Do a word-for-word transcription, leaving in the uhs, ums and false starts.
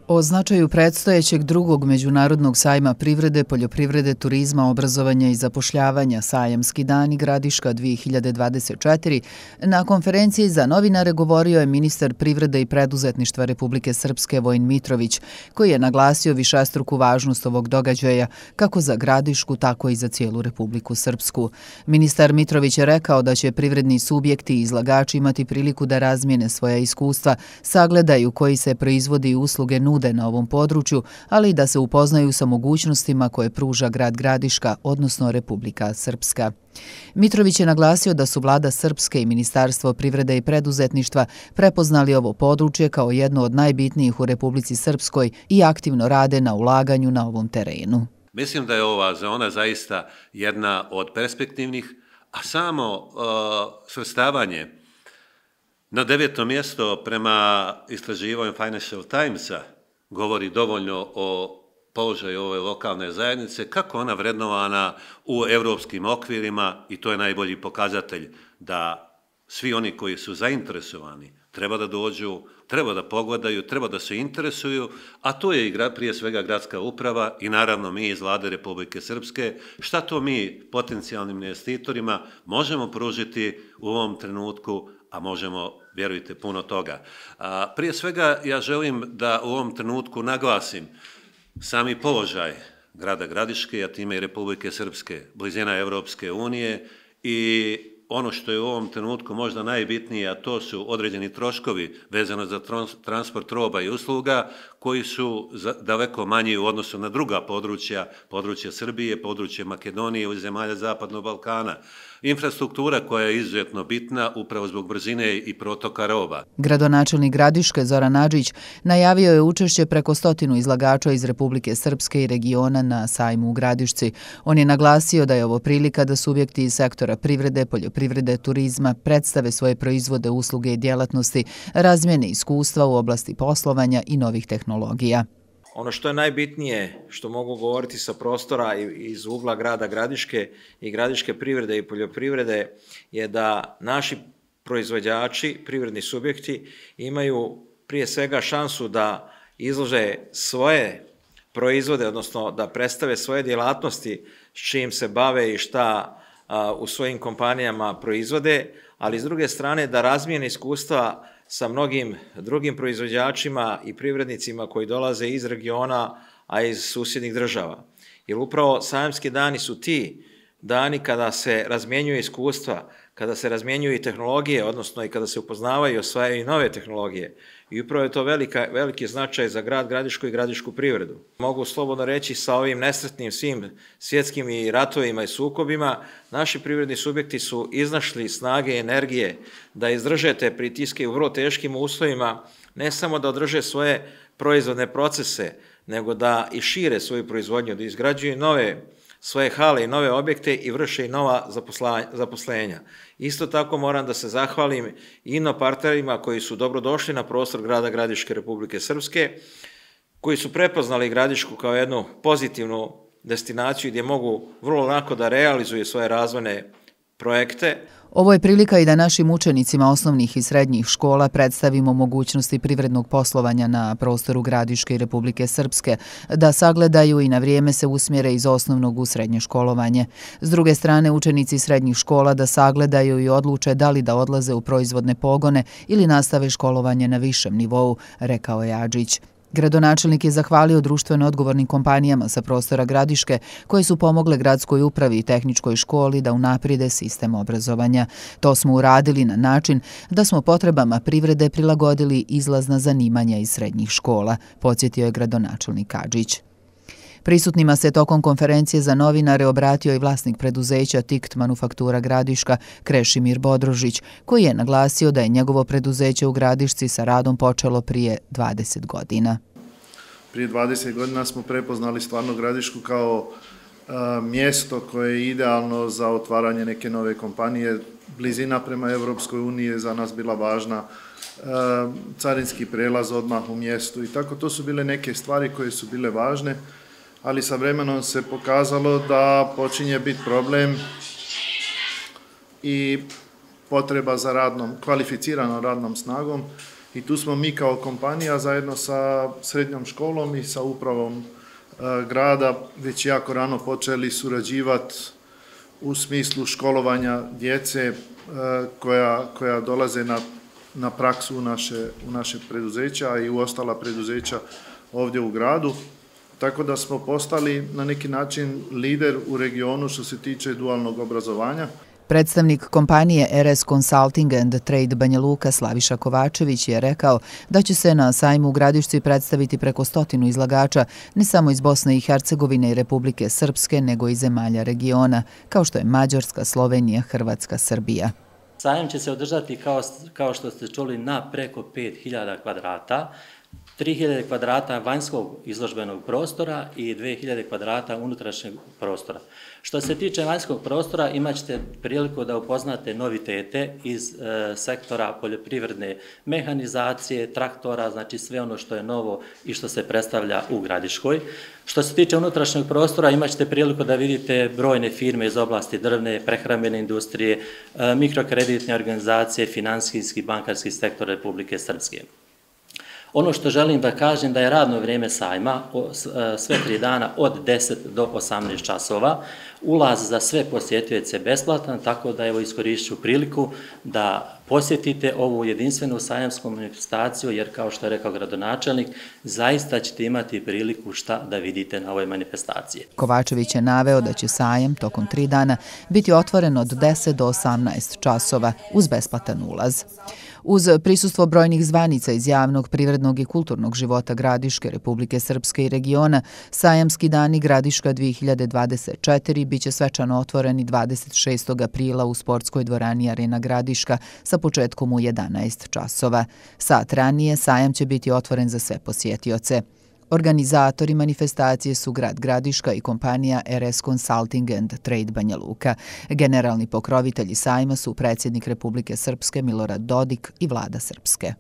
O značaju predstojećeg drugog međunarodnog sajma privrede, poljoprivrede, turizma, obrazovanja i zapošljavanja Sajamski dani Gradiška dvije hiljade dvadeset četiri na konferenciji za novinare govorio je ministar privrede i preduzetništva Republike Srpske Vojin Mitrović, koji je naglasio višestruku važnost ovog događaja kako za Gradišku, tako i za cijelu Republiku Srpsku. Ministar Mitrović je rekao da će privredni subjekti i izlagači imati priliku da razmijene svoja iskustva, sagledaju koji se proizvodi i usluge nude na ovom području, ali i da se upoznaju sa mogućnostima koje pruža grad Gradiška, odnosno Republika Srpska. Mitrović je naglasio da su vlada Srpske i Ministarstvo privrede i preduzetništva prepoznali ovo područje kao jedno od najbitnijih u Republici Srpskoj i aktivno rade na ulaganju na ovom terenu. Mislim da je ova zona zaista jedna od perspektivnih, a samo uh, svrstavanje na deveto mjesto prema istraživanju Financial Timesa govori dovoljno o položaju ove lokalne zajednice, kako ona vrednovana u evropskim okvirima, i to je najbolji pokazatelj da svi oni koji su zainteresovani treba da dođu, treba da pogledaju, treba da se interesuju, a to je i prije svega gradska uprava i naravno mi iz vlade Republike Srpske, šta to mi potencijalnim investitorima možemo pružiti u ovom trenutku, a možemo, vjerujte, puno toga. A, prije svega ja želim da u ovom trenutku naglasim sami položaj grada Gradiške, a time i Republike Srpske, blizina Evropske unije, i ono što je u ovom trenutku možda najbitnije, a to su određeni troškovi vezano za transport roba i usluga, koji su daleko manji u odnosu na druga područja, područja Srbije, područje Makedonije i zemalja Zapadnog Balkana. Infrastruktura koja je izuzetno bitna upravo zbog brzine i protoka roba. Gradonačelnik Gradiške Zoran Adžić najavio je učešće preko stotinu izlagača iz Republike Srpske i regiona na sajmu u Gradišci. On je naglasio da je ovo prilika da subjekti iz sektora privrede, poljoprivrede, turizma predstave svoje proizvode, usluge i djelatnosti, razmjene iskustva u oblasti poslovanja i novih tehnologija. Ono što je najbitnije, što mogu govoriti sa prostora iz ugla grada Gradiške i gradiške privrede i poljoprivrede, je da naši proizvođači, privredni subjekti, imaju prije svega šansu da izlože svoje proizvode, odnosno da predstave svoje djelatnosti s čim se bave i šta u svojim kompanijama proizvode, ali s druge strane da razmijene iskustva sa mnogim drugim proizvođačima i privrednicima koji dolaze iz regiona, a iz susjednih država. Jer upravo sajamski dani su ti dani kada se razmjenjuju iskustva, kada se razmjenjuju i tehnologije, odnosno i kada se upoznavaju i osvajaju nove tehnologije. I upravo je to velika, veliki značaj za grad Gradišku i gradišku privredu. Mogu slobodno reći, sa ovim nesretnim svim svjetskim i ratovima i sukobima, naši privredni subjekti su iznašli snage i energije da izdrže te pritiske u vrlo teškim uslovima, ne samo da održe svoje proizvodne procese, nego da i šire svoju proizvodnju, da izgrađuju nove svoje hale i nove objekte i vrše i nova zaposlenja. Isto tako moram da se zahvalim ino partnerima koji su dobrodošli na prostor grada Gradiške Republike Srpske, koji su prepoznali Gradišku kao jednu pozitivnu destinaciju gdje mogu vrlo lako da realizuju svoje razvojne projekte. Ovo je prilika i da našim učenicima osnovnih i srednjih škola predstavimo mogućnosti privrednog poslovanja na prostoru Gradiške i Republike Srpske, da sagledaju i na vrijeme se usmjere iz osnovnog u srednje školovanje. S druge strane, učenici srednjih škola da sagledaju i odluče da li da odlaze u proizvodne pogone ili nastave školovanje na višem nivou, rekao je Adžić. Gradonačelnik je zahvalio društveno odgovornim kompanijama sa prostora Gradiške koje su pomogle gradskoj upravi i tehničkoj školi da unaprijede sistem obrazovanja. To smo uradili na način da smo potrebama privrede prilagodili izlazna zanimanja iz srednjih škola, podsjetio je gradonačelnik Adžić. Prisutnima se tokom konferencije za novinare obratio i vlasnik preduzeća Tikt Manufaktura Gradiška Krešimir Bodrožić, koji je naglasio da je njegovo preduzeće u Gradišci sa radom počelo prije dvadeset godina. Prije dvadeset godina smo prepoznali stvarno Gradišku kao a, mjesto koje je idealno za otvaranje neke nove kompanije. Blizina prema Evropskoj uniji je za nas bila važna, a, carinski prelaz odmah u mjestu i tako. To su bile neke stvari koje su bile važne, ali sa vremenom se pokazalo da počinje biti problem i potreba za radnom, kvalificiranom radnom snagom I tu smo mi kao kompanija zajedno sa srednjom školom i sa upravom grada već jako rano počeli surađivati u smislu školovanja djece koja, koja dolaze na, na praksu u naše, u naše preduzeća i u ostala preduzeća ovdje u gradu. Tako da smo postali na neki način lider u regionu što se tiče dualnog obrazovanja. Predstavnik kompanije R S Consulting and Trade Banja Luka Slaviša Kovačević je rekao da će se na sajmu u Gradišci predstaviti preko stotinu izlagača, ne samo iz Bosne i Hercegovine i Republike Srpske, nego i zemalja regiona, kao što je Mađarska, Slovenija, Hrvatska, Srbija. Sajam će se održati, kao, kao što ste čuli, na preko pet hiljada kvadrata, tri hiljade kvadrata vanjskog izložbenog prostora i dve hiljade kvadrata unutrašnjeg prostora. Što se tiče vanjskog prostora, imat ćete priliku da upoznate novitete iz e, sektora poljoprivredne mehanizacije, traktora, znači sve ono što je novo i što se predstavlja u Gradiškoj. Što se tiče unutrašnjeg prostora, imat ćete priliku da vidite brojne firme iz oblasti drvne, prehrambene industrije, e, mikrokreditne organizacije, finansijski i bankarski sektor Republike Srpske. Ono što želim da kažem da je radno vrijeme sajma sve tri dana od deset do osamnaest časova. Ulaz za sve posjetioce je besplatan, tako da evo iskorišću priliku da posjetite ovu jedinstvenu sajamsku manifestaciju, jer kao što je rekao gradonačelnik, zaista ćete imati priliku šta da vidite na ovoj manifestaciji. Kovačević je naveo da će sajam tokom tri dana biti otvoren od deset do osamnaest časova uz besplatan ulaz. Uz prisustvo brojnih zvanica iz javnog, privrednog i kulturnog života Gradiške, Republike Srpske i regiona, sajamski dani Gradiška dve hiljade dvadeset četiri biće svečano otvoreni dvadeset šestog aprila u sportskoj dvorani Arena Gradiška sa početkom u jedanaest časova. Sat ranije sajam će biti otvoren za sve posjetioce. Organizatori manifestacije su grad Gradiška i kompanija R S Consulting and Trade Banja Luka. Generalni pokrovitelji sajma su predsjednik Republike Srpske Milorad Dodik i vlada Srpske.